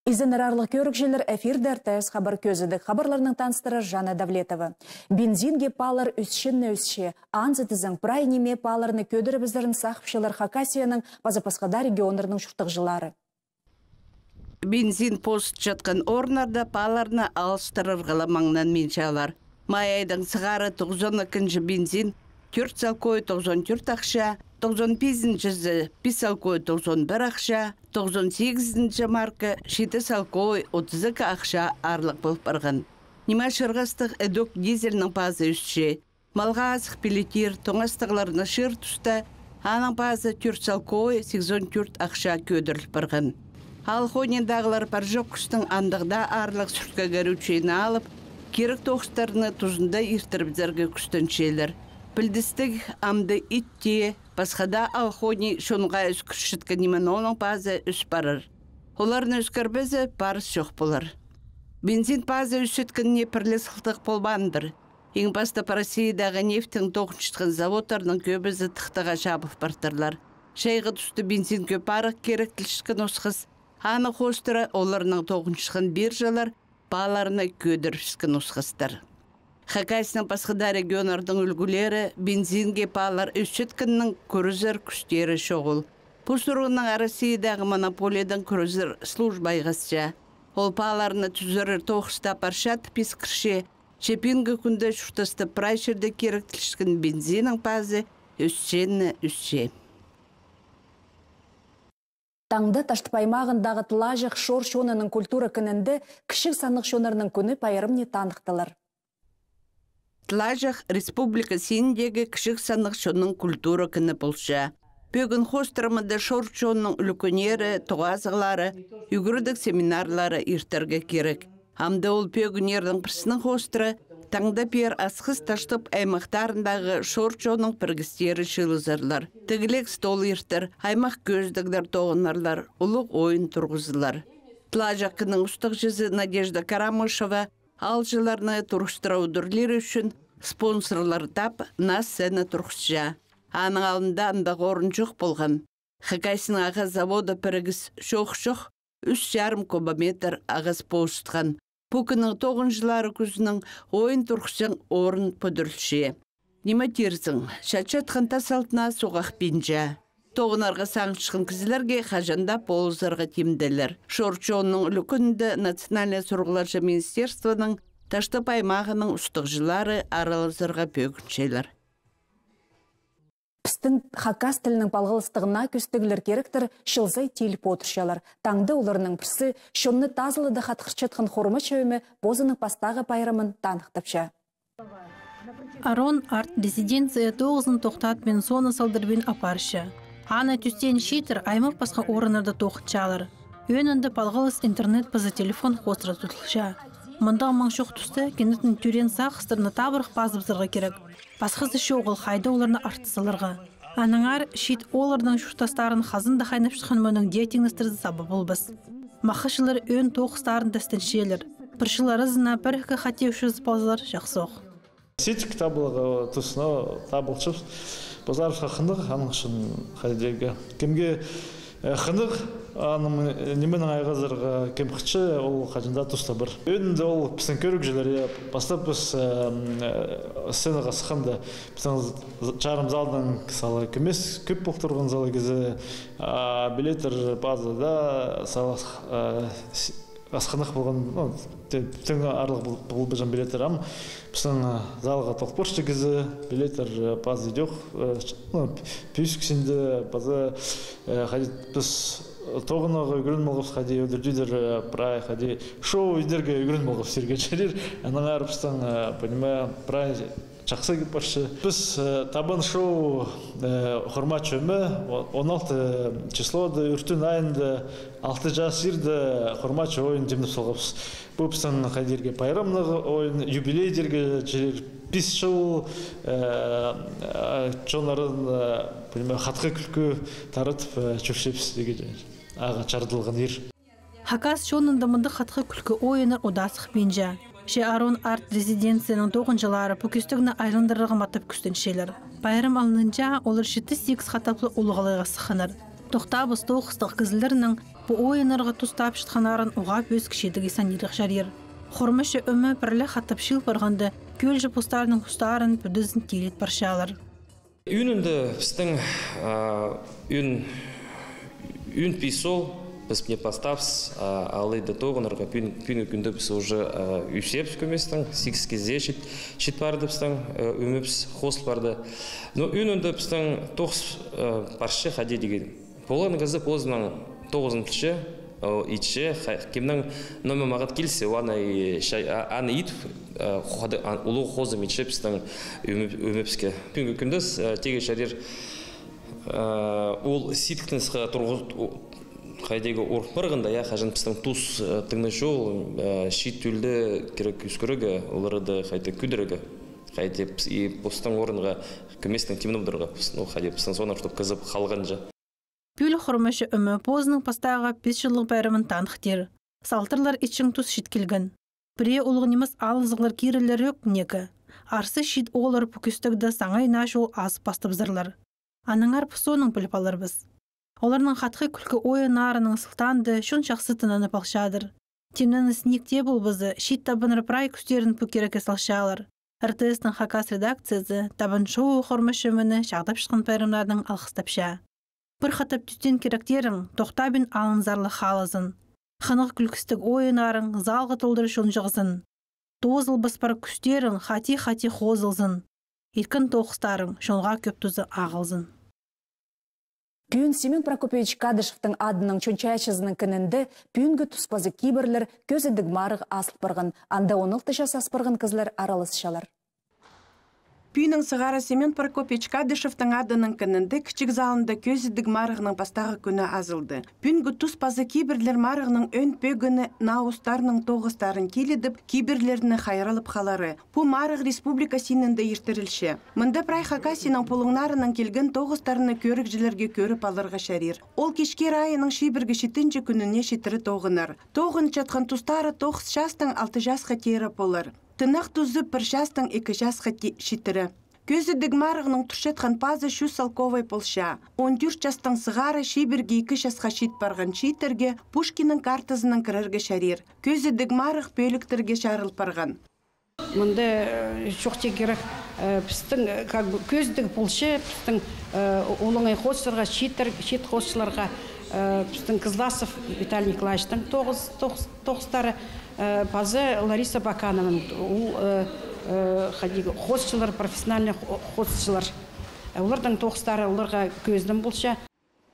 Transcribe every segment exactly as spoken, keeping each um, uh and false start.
Изенерарлық көрікжелер эфирдер тәз хабар көзідік. Хабарларының таныстыры Жанна Давлетова. Бензинге палар үсшінні үсше. Анзытызың прайнеме паларны көдірі біздерін сақпшылар Хакасияның базапасқада регионырының шұртық жылары. Бензин пост жатқан орнарда паларны алыстырыр ғаламаңнан меншалар. Майайдың сығары тоғызон екінші бензин, төрт салкой тоғызон төрт ақша, тоғызон бесінші бес салкой тоғызон бір ақша, тоғызон сегізінші марка жеті салкой отыз екі ақша арлық болып барған. Нема шырғастық әдік дизельінің пазы үстше. Малға азық пелетер тоңастығыларына шыр тұста, аның пазы төрт салкой сексен төрт ақша көдіріліп барған. Ал хонендағылар паржок күстің андығда арлық сүртке көручейіні алып, керек тоғыстарыны тұзында ертіріп зәргі күстіншелер. Білдістік амды итте, басқада алхони шонға үскіршіткі немен оның пазы үс барыр. Оларын үскірбізі барыс жоқ болар. Бензин пазы үсіткініне пірлес қылтық болбандыр. Ең басты Россиядағы нефтің тоғыншытқын заводтарының көбізі тықтыға жабып бартырлар. Шайғы түсті бензин көп арық керек тілшікін осқыз. Аны қостыры оларының тоғыншытқын биржалар баларына көдірішкін осқыздар. Хакасияның басқыда регионардың үлгілері бензинге палар үсіткіннің күрізір күштері шоғыл. Бұл сұрғының Россиядағы монополиядан күрізір службайғасша. Ол паларыны түзірір тоғыста паршат пискірше, шепінгі күнді шұртысты прайшерді керек тілшкін бензинің пазы үсшені үсше. Таңды таштыпаймағындағы тылажық шор шонының культура күнінде кішік санық шонарының күні пайырымне танықтылар. Тлажақ республика сендегі кішік санық шонның культура күні болша. Бөгін хостырымыды шор шонның үлкөнері, тоғазығылары, үгірдік семинарлары ертерге керек. Амды ол пөгінердің пірсінің хостыры таңда пер асқыз таштып аймақтарындағы шорчоның піргістері шылызырлар. Тігілек стол ертір, аймақ көздігдер тоғынарлар, ұлық ойын тұрғызылар. Тлажақының ұстық жүзі Надежда Карамышева алжыларны тұрғыстыраудырлер үшін спонсорлар тап нас сәні тұрғызжа. Аның алында андағы орын жоқ болған. Хакасияның ағыз заводы піргіс шоқ-шоқ үш жарым кубометр ағыз поштқан. Пукының тоғын жылары күзінің ойын тұрқшың орын pëдірілше. Неме терзің, шатшатқан тасалтына соғақ бенжа. Тоғынарға саңшықын кізілерге қажанда полызарға темділер. Шорчонның үлікінді Национальный сұрғыларшы министерствоның таштып аймағының ұстық жылары аралызырға бөгіншелер. Пістің Хакас тілінің балғылыстығына көстігілер керектір шылзай теліп отыршалар. Таңды оларының пірсі шонны тазылыды қатқырчатқын хорымы чөйімі бозының пастағы пайрамын танықтапша. Арон арт резиденция тоғызын тоқтат мен соны салдырбен апаршы. Аны түстен шейтір аймақ басқа орынырды тоқытшалар. Өнінді балғылыс интернет пызы телефон қостыра тұтылша. Мұнда маңшоқ түсті кенетін түрен сақыстырны табырық базыбызырға керек. Басқызды шоғыл қайды оларны артысылырға. Аныңар шет олардың шұртастарын қазында қайнап шыққан мөның диетіңістірді сабы болбыз. Мақышылар өн тоқыстарын дәстіншелер. Біршылары зына бірікі қатеушіз базылар жақсоқ. Сетік табылығы тұсына табылшып, базарышқа қындық, аның үшін қайдегі. Кемге қындық, неменің айғазырға кем қытшы, ол қажында тұста бір. Өнінде ол пістің көрік желері, бастап біз сценаға сыққанда, пістің жарым залдың салы көмес көп бұқтырған залы кезі, билетер базада салы асқанық болған, түнгі арлық бұл бұжан билетер ам, пістің залға тоқпыршты кезі, билетер базы жоқ, пүйіскісінде базы қадет біз тоғынаға үгірін молғыз қади өдірдейдер прай қади шоу үйдерге үгірін молғыз серген жерер. Аның арыпстан, понимая, прай жақсы кеп баршы. Біз табын шоу құрма чөмі он алты числоды үртін айында алты жас ерді құрма чө ойын демдіп солғапыз. Бұл біздің қадерге пайрамнығы ойын, юбилейдерге жерер бес жыл чонарын қатқы күлкі таратып чөпшепсіз деген аға чардылған ер. Хакас шонында мұнды қатқы күлкі ойыныр одасық бенжа. Ше Арон арт резиденцияның тоғын жылары бүкістігіні айландырығы матып күстіншелер. Байрам алынынша олар жеті сегіз қатаплы олғалайға сықыныр. Тоқтабыз тоқыстық кізілдерінің бұ ойынырға тұстап шытқанарын ұғап өз кішедігі санирық жарер. Хормышы өмі бірлі хаттап шыл барғанды көл жыпыстарының құстарын бүдізін телет баршалар. Үнінді біздің үн писол, біз не поставс, алайда тоғынырға пүні күнді біз уже үсепс көместің, сикс кезе шет барды біздің өміпс хосл барды. Но үнінді біздің тоғыз паршы қаде деген. Болған ғызы позынан тоғызынтылшы, итші, кемнің номер мағат келсе, аны ит ұлы қозым итші біздің өміпске. Пүнгі күндіз теге шарер ол ситкінісқа қайдегі орпырғында, я қажын біздің тұс тыңны жол, шит түлді керек үскірігі, оларды қайты күдірігі. Қайты постың орынға көместің темін бұдырға, қайды біздің соны ұштып қызып қалған жа. Пүл хұрмышы өмі позының пастаға бес жылық бәрімін танықтер. Салтырлар итшің тұс шит келген. Біре олғынымыз алызығылар керілер өк некі. Арсы шит олар бүкістігді саңай нашол азып бастыбзырлар. Аныңар пұсоның біліп алыр біз. Оларның қатқы күлкі ойы нарының сылтанды шын шақсы тынаны пақшадыр. Темнені снекте бұл бізі шит табыныр прай күстерін пүкерікі салшалар. эр тэ эстің хакас редакциясы табын шоу хұрмышы өміні шағдап шыққан пәрімлардың алқыстапша. Бір қатап түстен керектерің тоқтабын алынзарлы халызын. Ханық күлкістік ойынарың залғы толдыры шон жығызын. Тозыл баспар күстерің хати-хати хозылзын. Иркін тоқыстарың шонға көп тұзы ағылзын. Пүйін Семен Прокопьевич Кадышевтың адының чөнчайшызының кінінді пүйінгі тұспазы кейбірлер көзідік марығы асыл барғын, анда онылты жас аспырғын кызлар аралысшалар. Пүйінің сығары Семен Прокопьевич Кадышевтың адының кінінді кішік залында көзідік марығының бастағы күні азылды. Пүйінгі тұспазы кейбірлер марығының өн пөгіні науыстарының тоғыстарын келедіп, кейбірлеріні қайрылып қалары. Бұл марық республика синінде ертірілші. Мұнда прай хакасының полыңнарының келген тоғыстарыны көрікжілерге көріп алырға шәрер. Ол кешке райының шейбіргі шетінші күніне шетірі тоғынар. Тоғын чатқан тұстары тоғыз жастың алты жасқа тері болыр. Тынақ тұзы бір жастың екі жасқа шетірі. Көзідік марығының тұршетқан пазы шу салковай полша. он төрт жастың сығары шейбірге екі жасқа шет барған шейтерге Пушкинның картызының кірірге шәрер. Көзідік марық бөліктерге шарыл барған. Мұнда жоқте керек біздің көзідік полшы, біздің олыңай қосыларға, шет қосыларға біздің Кызласов Виталий Николаевичтың тоғыстары, базы Лариса Бакановның, қосшылар, профессиональный қосшылар. Олардың тоғыстары оларға көздің болша.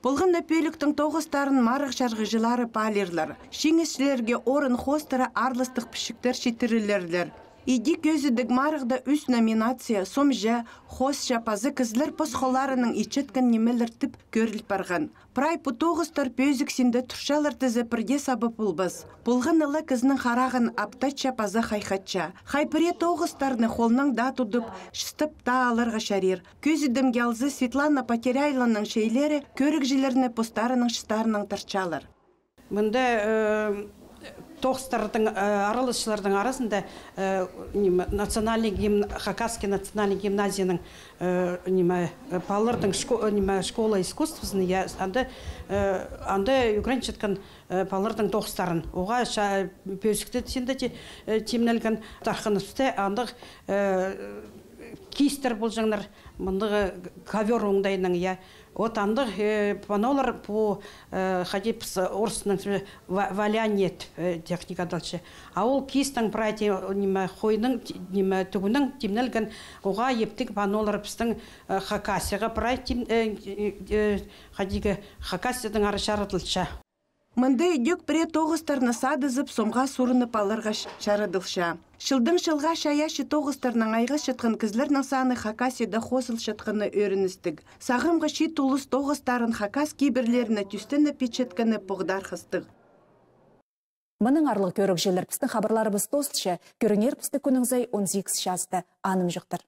Болғанда пөліктің тоғыстарын марық жарғы жылары палерлер. Шеңесшілерге орын қостары арлыстық пішіктер шетірілерлер. Иди көзідік марықда үс номинация, сомжа, хосша пазы кізлер посқоларының ичеткен немелер тіп көріліп барған. Прай бұ тоғыстар пөзіксінде тұршалар тізі бірде сабы бұлбыз. Бұлғын ылы кізінің қарағын аптача пазы хайхатча. Хайпыре тоғыстарны қолның да тұдып, шыстып та алырға шарер. Көзідім гелзі Светлана Потеряйланың шейлері көрікжілеріне постарының шыстарының тарчалар. Мұнда тоғыстардың аралысшылардың арасында национальный гимн, Хакасский национальный гимназияның палырдың школа искусствосын, анда үгіреншеткен палырдың тоғыстарын. Оға пөзікті сенде темнелген тарқынысты андық кейстер бұл жаңлар, мұндағы ковер оңдайының, от андық панолар по ходить орысының валяние техникадалшы. А ол кейстің прайти қойның түгінің темнелген оға ептік панолар біздің хакасияға прайти хакасияның ары шарытылша. Мұнда үйдек біре тоғыстарны садызып, сомға сұрыны палырға шарыдылша. Шылдың шылға шаяшы тоғыстарның айғы шытқын кізлерінің саны Хакасияда қосыл шытқыны өріністік. Сағымға шет ұлыс тоғыстарын Хакас кейбірлеріні түстіні печеткіні бұғдар қыстық. Мұның арлық көрік желер пістің хабарлары біз тостшы, көрінер пісті күніңзай он сегіз жасты аным жүқтір.